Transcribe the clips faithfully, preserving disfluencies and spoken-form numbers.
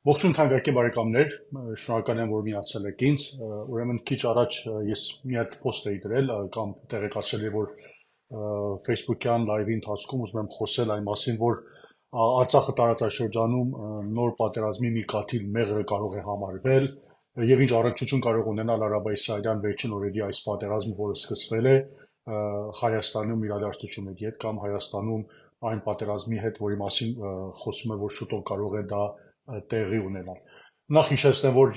Ողջույն թանկագին բարեկամներ, շնորհակալ եմ, որ միացել եք ինձ։ Ուրեմն քիչ առաջ ես մի հատ post էի դրել կամ տեղեկացրել եմ, որ Facebook-յան լայվի ընթացքում ուզում եմ խոսել այն մասին, որ Արցախը տարածաշրջանում նոր պատերազմի մի կաթիլ մեղրը կարող է համարվել եւ ինչ առնչություն կարող ունենալ Արաբա-Իսրայելյան վերջին օրերի այս պատերազմը, որը սկսվել է Հայաստանում իրադարձությունների հետ կամ Հայաստանում այն պատերազմի հետ, որի մասին խոսում է, որ շուտով կարող է դա տեղի ունենալ։ Նախ հիշեցնեմ, որ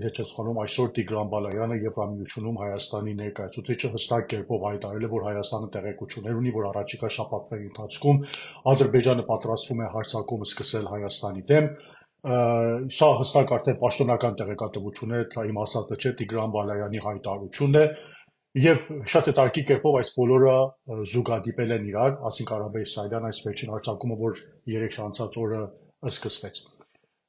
հեչեցխանում այսօր Տիգրան Բալայանը Եվրամիությունում Հայաստանի ներկայացուցիչը հստակ կերպով հայտարարել է, որ Հայաստանը տեղեկություններ ունի, որ առաջիկա շաբաթների ընթացքում Ադրբեջանը պատրաստվում է հարձակում սկսել Հայաստանի դեմ։ Սա հստակ արդեն պաշտոնական տեղեկատվություն է, դա իմ ասածը չէ, Տիգրան Բալայանի հայտարարությունն է։ Եվ շատ հետաքրքիր կերպով այս բոլորը զուգադիպել են իրար, ասենք Արաբա-Իսրայելյան այս վերջին հարձակումը, որ երեք անցած օրը սկսվեց։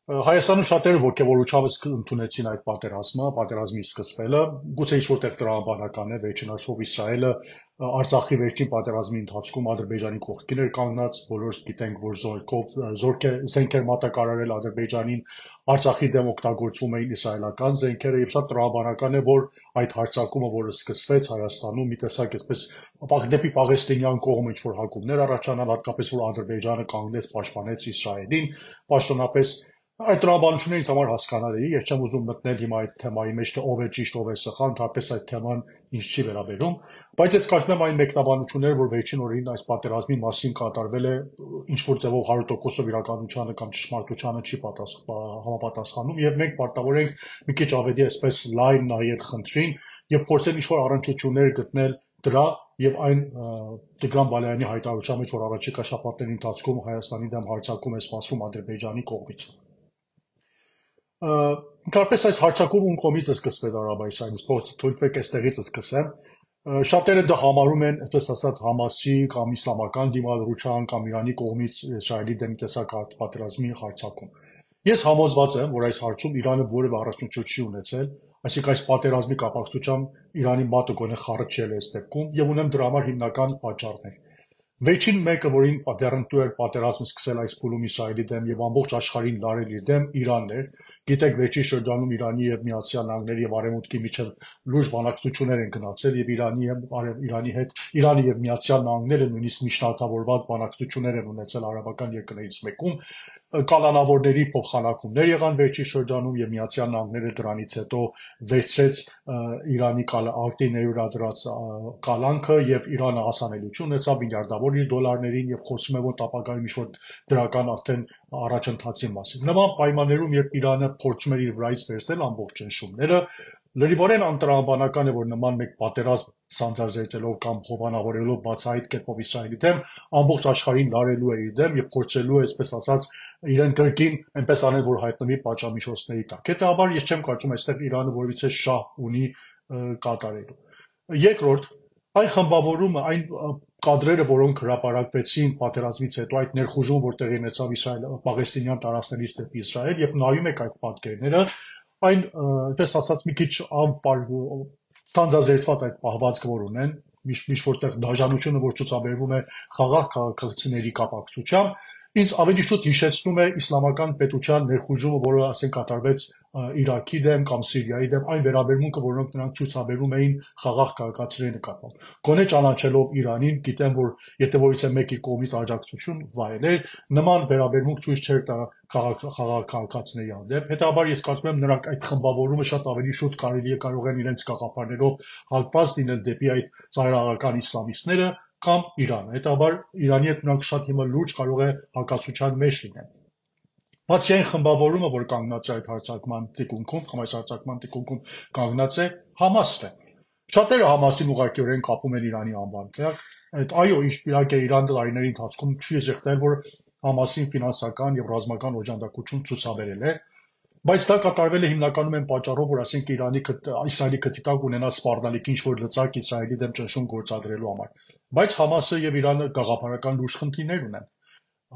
Հայաստանում շատերը ոգևորությամբ ընդունեցին այդ պատերազմը, պատերազմի սկսվելը, գուցե ինչ-որտեղ տրամաբանական է, վերջին հաշվով Իսրայելը Արցախի վերջին պատերազմի ընթացքում Ադրբեջանի կողքին էր կանգնած, բոլորս գիտենք, որ զորքով զենքեր մատակարարել Ադրբեջանին, Արցախի դեմ օգտագործվում էին իսրայելական զենքերը եւ շատ տրամաբանական է, որ այդ հարձակումը, որը սկսվեց Հայաստանում, մի տեսակ այսպես դեպի Պաղեստինյան կողմը ինչ-որ հակումներ առաջանալ, հատկապես որ Ադրբեջանը կանգնեց պաշտպանեց Իսրայելին, պաշտոնապես այդ տրամաբանություններից համար հասկանալի, ես չեմ ուզում մտնել հիմա այդ թեմայի մեջ, թե ով է ճիշտ, ով է սխալ, ընդհանրապես այդ թեման ինձ չի վերաբերում, բայց ես կարծում եմ այն մեկնաբանությունները, որ վերջին օրերին այս պատերազմի մասին կատարվել է, ինչ որ ձևով հարյուր տոկոսով իրականությանը կամ ճշմարտությանը չի համապատասխանում, եւ մենք պարտավոր ենք մի քիչ ավելի այսպես լայն նայել խնդրին եւ փորձել ինչ-որ առնչություններ գտնել դրա եւ այն Տիգրան Բալայանի հայտարարության մեջ, որ առաջիկա շաբաթների ընթացքում Հայաստանի դեմ հարձակում է սպասվում Ադրբեջանի կողմից։ Ընդհանրապես այս հարձակումը ում կողմից է սկսվել Արաբա-Իսրայելից, թույլ տվեք այստեղից սկսեմ։ Շատերը դա համարում են, այսպես ասած, Համասի կամ իսլամական դիմադրության կամ Իրանի կողմից Իսրայելի դեմ տեսակ պատերազմի հարձակում։ Ես համոզված եմ, որ այս հարցում Իրանը որևէ առաջնություն չի ունեցել, այսինքն այս պատերազմի կապակցությամբ Իրանի մատը գոնե խառճել է այս դեպքում եւ ունեմ դրա համար հիմնական պատճառներ։ Վերջին մեկը, որին դեռնտու էր պատերազմը սկսել այս փուլում Իսրայելի դեմ եւ ամբողջ աշխարհին լարել իր դեմ, Իրանն էր։ Գիտեք, վերջին շրջանում Իրանի եւ Միացյալ Նահանգների եւ Արևմուտքի միջև լուրջ բանակցություններ են գնացել եւ Իրանի եւ Իրանի հետ Իրանը եւ Միացյալ Նահանգները նույնիսկ միջնորդավորված բանակցություններ են ունեցել արաբական երկրներից մեկում, կալանավորների փոխանակումներ եղան վերջին շրջանում եւ Միացյալ Նահանգները դրանից հետո վերցրեց Իրանի արտիների վրա դրած կալանքը եւ Իրանը հասանելիություն ունեցավ միլիարդավոր դոլարներին եւ խոսում է որ ապագայում ինչ-որ դրական արդեն առաջընթացի մասին։ Նման պայմաններում, երբ Իրանը փորձում էր իր վրայից վերցնել ամբողջ ճնշումները, լրիվորեն անտրամաբանական է, որ նման մեկ պատերազմ սանձազերծելով կամ հովանավորելով բացահայտ կերպով Իսրայելի դեմ, ամբողջ աշխարհին լարելու է իր դեմ եւ փորձելու է, այսպես ասած, իրեն կրկին այնպես անել, որ հայտնվի պատժամիջոցների տակ։ Հետաբար ես չեմ կարծում այստեղ Իրանը որևիցե շահ ունի կատարելու։ Երկրորդ, այն խմբավորումը, այն կադրերը, որոնք հրապարակվեցին պատերազմից հետո, այդ ներխուժում, որ տեղի ունեցավ Իսրայել Պաղեստինյան տարածքներից դեպի Իսրայել, եւ նայում եք այդ պատկերները, այն, այդպես ասած, մի քիչ սանձազերծված այդ պահվածքը, որ ունեն, ինչ որտեղ դաժանությունը, որ ցուցաբերվում է խաղաղ քաղաքացիների կապակցությամբ, ինձ ավելի շուտ հիշեցնում է իսլամական պետության ներխուժումը, որը ասենք կատարվեց Իրաքի դեմ կամ Սիրիայի դեմ, այն վերաբերմունքը, որոնք նրանք ցուցաբերում էին խաղաղ քաղաքացիների նկատմամբ։ Գոնե ճանաչելով Իրանին, գիտեմ, որ եթե որից է մեկի կողմից աջակցություն վայելեր, նման վերաբերմունք ցույց չէր տա խաղաղ քաղաքացիների հանդեպ։ Հետաբար ես կարծում եմ նրանք այդ խմբավորումը շատ ավելի շուտ կարելի է կարող են իրենց գաղափարներով հալված լինել դեպի այդ ծայրահեղական իսլամիստները կամ Իրանը։ Հետաբար Իրանի հետ նրանք շատ հիմա լուրջ կարող է հակասության մեջ լինեն։ Բացի այն խմբավորումը, որ կանգնած է այդ հարձակման թիկունքում, կամ այս հարձակման թիկունքում կանգնած է Համասն է։ Շատերը Համասին ուղղակիորեն կապում են Իրանի անվան։ Այդ այո, իհարկե Իրանը տարիների ընթացքում չի զեղտել, որ Համասին ֆինանսական եւ ռազմական օժանդակություն ցուցաբերել է, բայց դա կատարվել է հիմնականում այն պատճառով, որ ասենք Իրանի Իսրայելի քթիտակ ունենա սպառնալիք ինչ որ լծակ Իսրայելի դեմ ճնշում գործադրելու համար։ Բայց Համասը եւ Իրանը գաղափարական լուրջ խնդիրներ ունեն։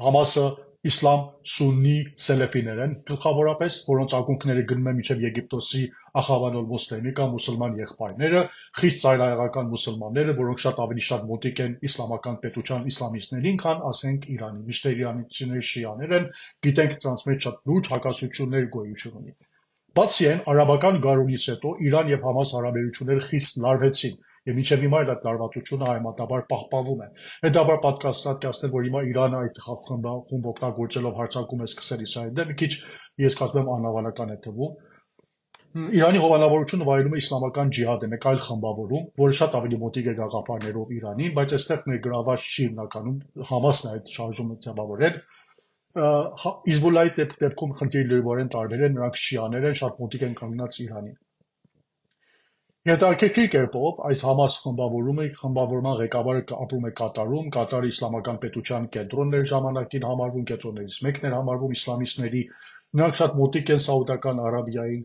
Համասը իսլամ, սուննի, սելեֆիներ են գլխավորապես, որոնց ակունքները գնում են մինչև Եգիպտոսի Ախավանոլ Մոսլեմի կամ մուսուլման եղբայրները, խիստ ծայրահեղական մուսուլմանները, որոնք շատ ավելի շատ մոտիկ են իսլամական պետության իսլամիստներին, քան ասենք Իրանի, միշտ իրանցիների շիաներ են, գիտենք դրանց մեջ շատ լուրջ հակասություններ գոյություն ունի։ Բացի այն, արաբական գարունից հետո Իրան եւ Համաս հարաբերությունները խիստ լարվեցին եւ մինչեւ հիմա այդ լարվածությունը համեմատաբար պահպանվում է։ Հետաբար պատկաստատկացնել, որ հիմա Իրանը այդ խումբ օգտագործելով հարձակում է սկսել Իսրայելի դեմ, մի քիչ ես կարծում եմ անհավանական է թվում։ Իրանի հովանավորությունը վայելում է իսլամական ջիհադը, մեկ այլ խմբավորում, որը շատ ավելի մոտիկ է գաղափարներով Իրանին, բայց այստեղ ներգրաված չի հիմնականում Համասն է այդ շարժումը ձևավորել։ Հիզբուլլայի դեպքում խնդիրը լրիվորեն տարբեր է, նրանք շիաներ են, շատ մոտիկ են կանգնած Իրանին։ Հետաքրքիր կերպով այս Համաս խմբավորումը խմբավորման ղեկավարը ապրում է Կատարում, Կատարը իսլամական պետության կենտրոնն էր ժամանակին համարվում, կենտրոններից մեկն էր համարվում իսլամիստների, նրանք շատ մոտիկ են Սաուդական Արաբիային,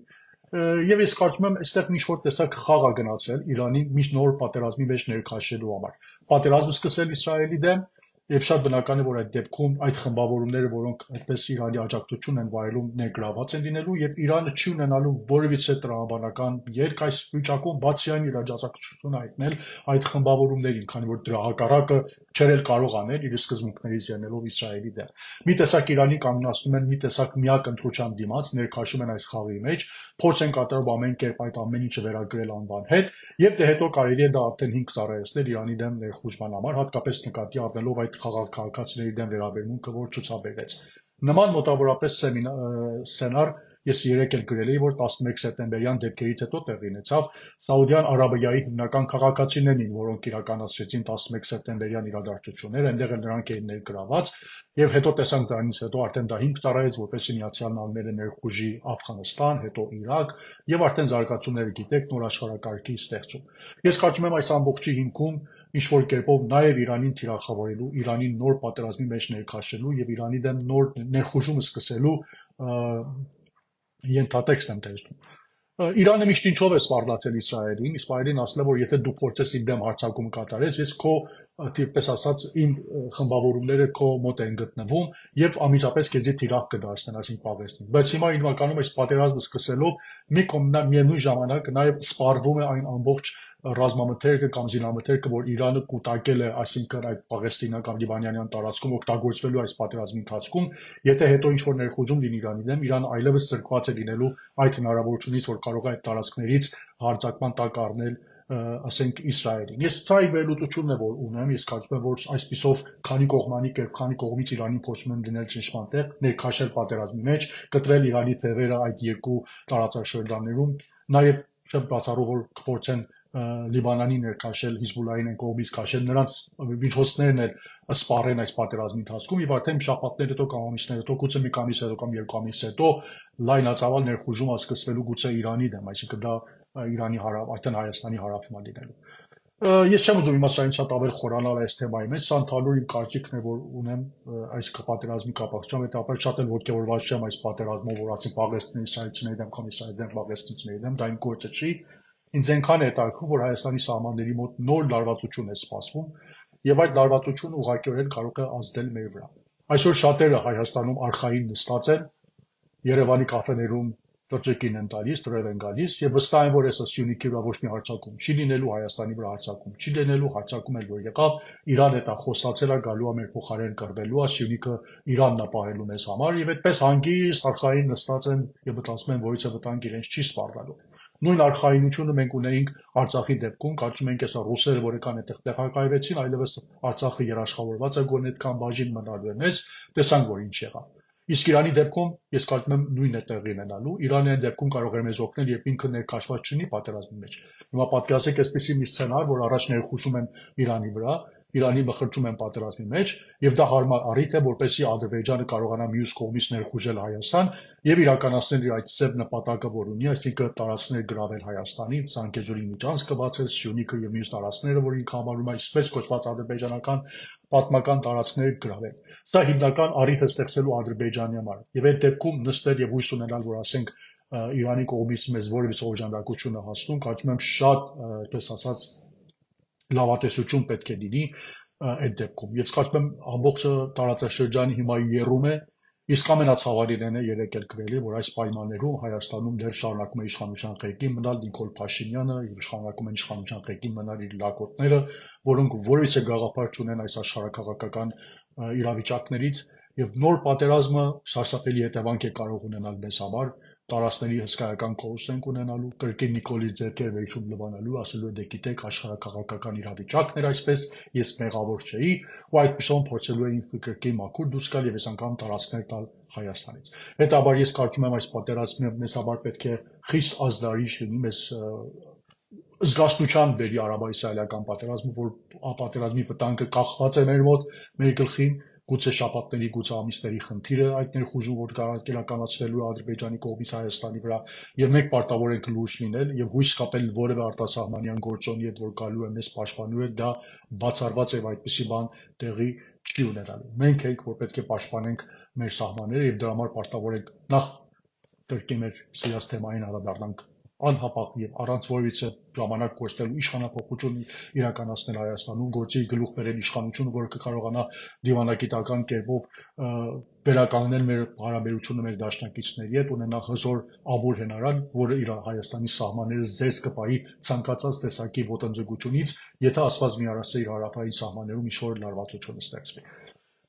եւ ես կարծում եմ, այստեղ ինչ-որ տեսակ խաղ է գնացել Իրանի մի նոր պատերազմի մեջ ներքաշելու համար։ Պատերազմը սկսել Իսրայելի դեմ, եւ շատ բնական է, որ այդ դեպքում այդ խմբավորումները, որոնք այդպես Իրանի աջակցություն են վայելում, ներգրաված են լինելու եւ Իրանը չի ունենալու որևիցե տրամաբանական երկ այս վիճակում, բացի այն իր աջակցությունը հայտնել այդ խմբավորումներին, քանի որ դրա հակառակը չէր էլ կարող անել իր սկզբունքներից ելնելով Իսրայելի դեմ։ Մի տեսակ Իրանի կանգնացնում են մի տեսակ միակ ընտրության դիմաց, ներքաշում են այս խաղի մեջ, փորձ են կատարում ամեն կերպ այդ ամեն ինչը վերագրել անվան հետ, եւ դե հետո կարելի է դա արդեն հիմք ծառայեցնել Իրանի դեմ ներխուժման համար, հատկապես նկատի առնելով այդ քաղաքացիների դեմ վերաբերմունքը, որ ցուցաբերվեց։ Նման մոտավորապես սցենար ես երեք էլ գրել էի, որ տասնմեկ սեպտեմբերյան դեպքերից հետո տեղի ունեցավ Սաուդյան Արաբիայի հիմնական քաղաքացիներն, որոնք իրականացրեցին տասնմեկ սեպտեմբերյան իրադարձությունները, այնտեղ էլ նրանք էին ներգրաված, եւ հետո տեսանք դրանից հետո արդեն դա հիմք ծառայեց, որպեսզի Միացյալ Նահանգները ներխուժի Աֆղանստան, հետո Իրաք, եւ արդեն զարգացումները գիտեք, նոր աշխարհակարգի ստեղծում։ Ես կարծում եմ այս ամբողջի հիմքում ինչ որ կերպով նաև Իրանին թիրախավորելու, Իրանին նոր պատերազմի մեջ ներքաշելու եւ Իրանի դեմ նոր ներխուժումը սկսելու ենթատեքստ եմ տեսնում։ Իրանը միշտ ինչով է սպառնացել Իսրայելին, Իսրայելին ասել է, որ եթե դու փորձես իմ դեմ հարձակում կատարես, ես քո տիպպես ասած իմ խմբավորումները քո մոտ են գտնվում եւ ամիջապես քեզի թիրախ կդարձնեն, այսինքն պաղեստին։ Բայց հիմա իրականում այս պատերազմը սկսելով մի կողմնա միևնույն ժամանակ նաեւ սպառվում է այն ամբողջ ռազմամթերքը կամ զինամթերքը, որ Իրանը կուտակել է, այսինքն այդ պաղեստինական լիբանանյան տարածքում օգտագործվելու այս պատերազմի ընթացքում, եթե հետո ինչ որ ներխուժում լինի Իրանի դեմ, Իրանը այլևս սրկված է լինելու այդ հնարավորությունից, որ կարող է այդ տարածքներից հարձակման տակ առնել, ասենք Իսրայելին։ Ես ցայ վերլուծությունն է որ ունեմ, ես կարծում եմ, որ այսպիսով քանի կողմանի կերպ, քանի կողմից Իրանին փորձում են դնել ճնշման տեղ, ներքաշել պատերազմի մեջ, կտրել Իրանի թևերը այդ երկու տարածաշրջաններում, նաև շատ բացառու որ կփորձեն Լիբանանի ներքաշել, Հիզբուլլային են կողմից քաշել, նրանց միջոցներն էլ սպառեն այս պատերազմի ընթացքում եւ արդեն շաբաթներ հետո կամ ամիսներ հետո, գուցե մի ամիս հետո կամ երկու ամիս հետո լայնածավալ ներխուժումը սկսվելու գուցե Իրանի դեմ, այսինքն դա Իրանի հարավ, արդեն Հայաստանի հարավում է լինելու։ Ես չեմ ուզում իմաստ այն շատ ավել խորանալ այս թեմայի մեջ, սա ընդհանուր իմ կարծիքն է, որ ունեմ այս պատերազմի կապակցությամբ, հետապար շատ էլ ոգևորված չեմ այս պատերազմով, որ ասենք Պաղեստինի իսրայելցիների դեմ կամ իսրայելի դեմ պաղեստինցիների դեմ, դա իմ գործը չի։ Ինձ այնքան է հետաքրքրում, որ Հայաստանի սահմանների մոտ նոր լարվածություն է սպասվում, եւ այդ լարվածությունը ուղղակիորեն կարող է ազդել մեր վրա։ Այսօր շատերը Հայաստանում արխային նստած են, Երևանի կաֆեներում լրջիկին են տալիս, դրև են գալիս եւ վստահ են, որ այս Սյունիքի վրա ոչ մի հարձակում չի լինելու, Հայաստանի վրա հարձակում չի լինելու, հարձակում էլ որ եղավ, Իրան հետա խոսացել է, գալու է մեր փոխարեն կռվելու է, Սյունիքը Իրանն է պահելու մեզ համար եւ այդպես հանգիստ արխային նստած են եւ մտածում են, որից է վտանգ իրենց չի սպառնալու։ Նույն արխայինությունը մենք ունեինք Արցախի դեպքում, կարծում ենք հեսա ռուսերը, որ եկան այդտեղ տեղակայվեցին, այլևս Արցախը երաշխավորված է գոնե այդքան բաժին մնալու է մեզ, տեսանք որ ինչ եղավ։ Իսկ Իրանի դեպքում ես կարծում եմ նույնն է տեղի ունենալու։ Իրանը այդ դեպքում կարող է մեզ օգնել, երբ ինքը ներքաշված չլինի պատերազմի մեջ։ Հիմա պատկերացրեք այսպեսի մի սցենար, որ առաջ ներխուժում են Իրանի վրա, Իրանի մխրճում են պատերազմի մեջ, եւ դա հարմար առիթ է, որպեսզի Ադրբեջանը կարողանա մյուս կողմից ներխուժել Հայաստան եւ իրականացնել իր այդ ծեր նպատակը, որ ունի, այսինքն տարածքներ գրավել Հայաստանից, Ցանկեզուրի միջանցքը բացել, Սյունիքը եւ մյուս տարածքները, որ ինքը համարում է այսպես կոչված ադրբեջանական պատմական տարածքներ գրավել։ Սա հիմնական առիթ է ստեղծելու Ադրբեջանի համար։ Եվ այդ դեպքում նստել եւ հույս ունենալ, որ ասենք Իրանի կողմից մեզ որևիցե օժանդակություն է հասնում, կարծում եմ շատ, այդպես ասած, լավատեսություն պետք է լինի, այդ դեպքում։ Եվ կարծում եմ ամբողջ տարածաշրջանի հիմա եռում է, իսկ ամենացավալին է երեք էլ գրելի, որ այս պայմաններում Հայաստանում դեռ շարունակում է իշխանության ղեկին մնալ Նիկոլ Փաշինյանը եւ շարունակում են իշխանության ղեկին մնալ իր լակոտները, որոնք որևիցե գաղափար չունեն այս աշխարհակաղակական իրավիճակներից եւ նոր պատերազմը սարսափելի հետևանք է կարող ունենալ մեզ համար, տարածքների հսկայական կորուստ ենք ունենալու, կրկին Նիկոլի ձեռքեր վերջում լվանալու, ասելու է դե գիտեք աշխարհակաղակական իրավիճակն էր այսպես, ես մեղավոր չէի, ու այդպեսով փորձելու էին կրկին մաքուր դուրս գալ եւ այս անգամ տարածքներ տալ Հայաստանից։ Հետաբար ես կարծում եմ այս պատերազմը մեզ համար պետք է խիստ ազդարիչ լինի, մեզ զգաստության բերի արաբա-իսրայելական պատերազմը, որ պատերազմի վտանգը կախված է մեր մոտ, մեր գլխին, գուցե շաբաթների, գուցե ամիսների խնդիրը այդ ներխուժում, որ կիրականացվելու է Ադրբեջանի կողմից Հայաստանի վրա, եւ մենք պարտավոր ենք լուրջ լինել եւ հույս կապել որևէ արտասահմանյան գործոնի հետ, որ գալու է մեզ պաշտպանելու է, դա բացառված է այդպիսի բան տեղի չի ունենալու։ Մենք ենք, որ պետք է պաշտպանենք մեր սահմանները եւ դրա համար պարտավոր ենք նախ կրկին մեր սիրած թեմային անդրադառնանք անհապաղ եւ առանց որևիցե ժամանակ կորցնելու իշխանապողություն իրականացնել Հայաստանում, գործի գլուխ բերել իշխանությունը, որը կկարողանա դիվանագիտական կերպով վերականգնել մեր հարաբերությունը մեր դաշնակիցների հետ, ունենա հզոր ամուր հենարան, որը իր Հայաստանի սահմանները զերծ կպահի ցանկացած տեսակի ոտնձգությունից, եթե ասված մի առասը իր հարավային սահմաններում ինչ-որ լարվածություն ստեղծվի։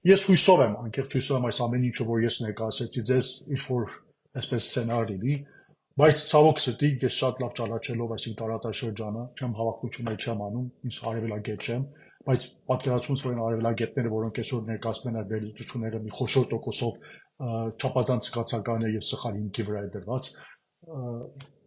Ես հույսով եմ, անկեղծ հույսով եմ այս ամեն ինչը, որ ես ներկայացրեցի ձեզ, ինչ-որ այսպես սցենար լինի, բայց ցավոք սրտի ես շատ լավ ճանաչելով այսինքն տարածաշրջանը, չեմ հավակնություններ չեմ անում, ինձ արևելագետ չեմ, բայց պատկերացումս որ այն արևելագետները, որոնք այսօր ներկայացնում են այդ վերլուծությունները մի խոշոր տոկոսով չափազանց զգացական է եւ սխալ հիմքի վրա է դրված,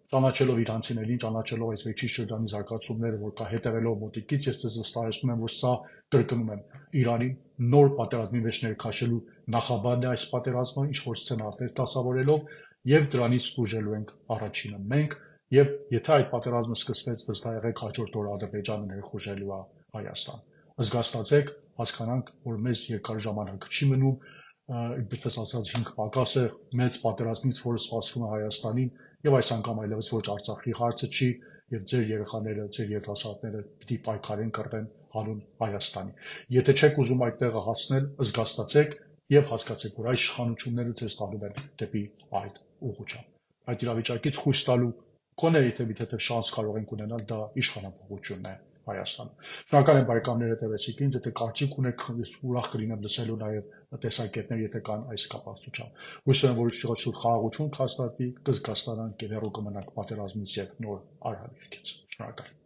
ճանաչելով իրանցիներին, ճանաչելով այս վերջին շրջանի զարգացումները, որ կա հետևելով մոտիկից, ես ձեզ վստահեցնում եմ, որ սա կրկնում եմ Իրանի նոր պատերազմի մեջ ներքաշելու նախաբանն է այս պատերազմը, ինչ որ սցենարներ դասավորելով եւ դրանից ուժելու ենք առաջինը մենք եւ եթե այդ պատերազմը սկսվեց վստահ եղեք հաջորդ օրը Ադրբեջանը ներխուժելու է Հայաստան։ Զգաստացեք, հասկանանք, որ մեզ երկար ժամանակ չի մնում, ինչպես ասած հինգ պակաս է մեծ պատերազմից, որը սպասվում է Հայաստանին եւ այս անգամ այլևս ոչ Արցախի հարցը չի եւ ձեր երեխաները, ձեր երիտասարդները պիտի պայքարեն կռվեն հանուն Հայաստանի։ Եթե չեք ուզում այդ տեղը հասնել, զգաստացեք եւ հասկացեք, որ այս իշխանությունները ձեզ տանում են դեպի այդ ուղղությամբ։ Այդ իրավիճակից խույս տալու կոնե եթե մի թեթև շանս կարող ենք ունենալ, դա իշխանապողությունն է Հայաստանում։ Շնորհակալ եմ բարեկամներ հետևեցիք ինձ, եթե կարծիք ունեք, ուրախ կլինեմ լսելու նաեւ տեսակետներ, եթե կան այս կապակցությամբ։ Հույս ունեմ, որ շուտ խաղաղություն կհաստատվի, կզգաստանանք եւ հեռու կմնանք պատերազմից եւ նոր արհավիրքից։ Շնորհակալ։